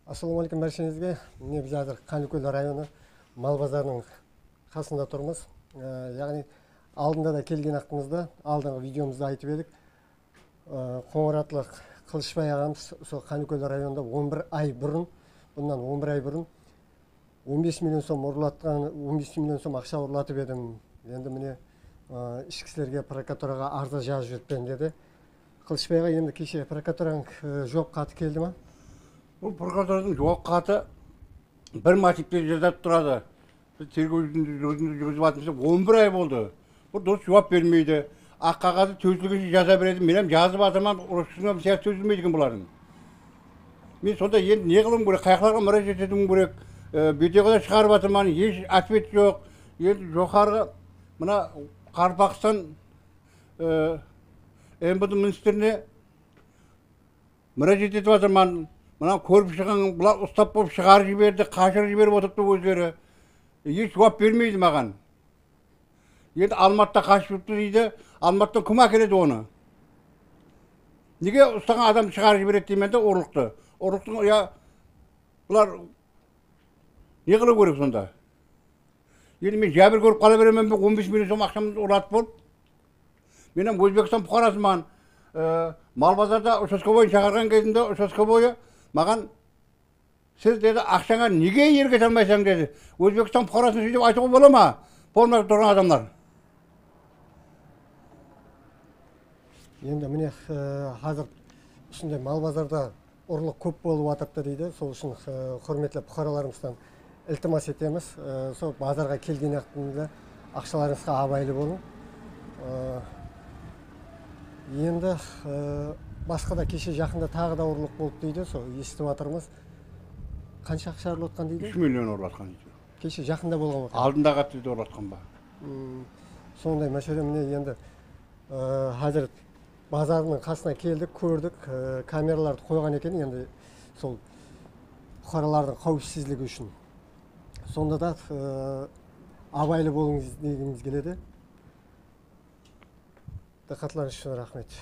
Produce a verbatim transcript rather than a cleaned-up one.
Assalomu alaykum barchangizga. Mine biz hozir Qanliko'l rayoni Mal bozorining qasında turibmiz. Ya'ni oldinda da kelgan vaqtimizda oldingi videomizda aytib edik. Qo'ng'iratlıq Qilishbay og'amiz so Qanliko'l rayonida o'n bir ay burun, bundan o'n bir ay burun o'n besh million so'm urlatgan, o'n besh million so'm ақша urlatib edim. Endi mine ishchi kishilarga prokuraturaga arza yozib jibman dedi. Qilishbayga endi kecha prokuraturaning javob xati keldimi? Bu prokuraturaning javob xati bir motivda жазып turadi. Biz tergovni жүргізіп жатырмыз, o'n bir ay болды. Bu дұрыс жауап бермейді. Ақ қағазды төзілгенше жаза береді. Мен ham жазып жатырмын, ұрысына сияқты төзілмейді екен бұлардың. Мен сонда енді не қылым керек, қаяқларға мұражат етуім керек. Видеода шығарып жатырмын, еш ответ жоқ. Енді жоғарғы мына Қарпақстан эм бэ дэ министріне мұражат етіп жатырмын. Мына көріп шыған бұлар ұстап болып шығарып жіберді, қашырып жіберіп отырыпты өздері. Еш жауап бермейді маған. Енді Алматыда қашып жүріпті дейді. Алматыдан кім әкеледі оны? Неге ұстаған адам шығарып жібереді деймін де ұрлықты. Ұрлықтың, я бұлар не қылу керек сонда? Енді мен жәбір көріп қала беремін бе, он беш миллион сом ақшамды ұрлатып болып. Мен Өзбекстан бұқарасыман. Мал базарда участковойын шақырған кезінде участковойы маған сіз деді ақшаңа неге ерге салмайсың деді. Өзбекстан бұқарасын сөйтіп айтуға бола ма? Болмай тұрған адамдар. Енді міне қазір ішінде мал базарда ұрлық көп болып жатырды дейді. Сол үшін құрметті бұқараларымыздан iltimos etamiz. Сол базарға келген вақытында ақшаларыңызға абайлы болың. Енді басқа да кеше жақында тағы да ұрлық болды дейді. Сол естіп жатырмыз. Қанша ақша ұрлатқан дейді? үш миллион ұрлатқан дейді. Кеше жақында болған ғой. Алдында қатты ұрлатқан ба? Сондай мәселе міне енді қазір базардың қасына келдік, көрдік, камераларды қойған екен, енді сол бұқаралардың қауіпсіздігі үшін. Сонда да абайлы болыңыз дегіміз келеді. Диққатларыңыз үшін рахмет.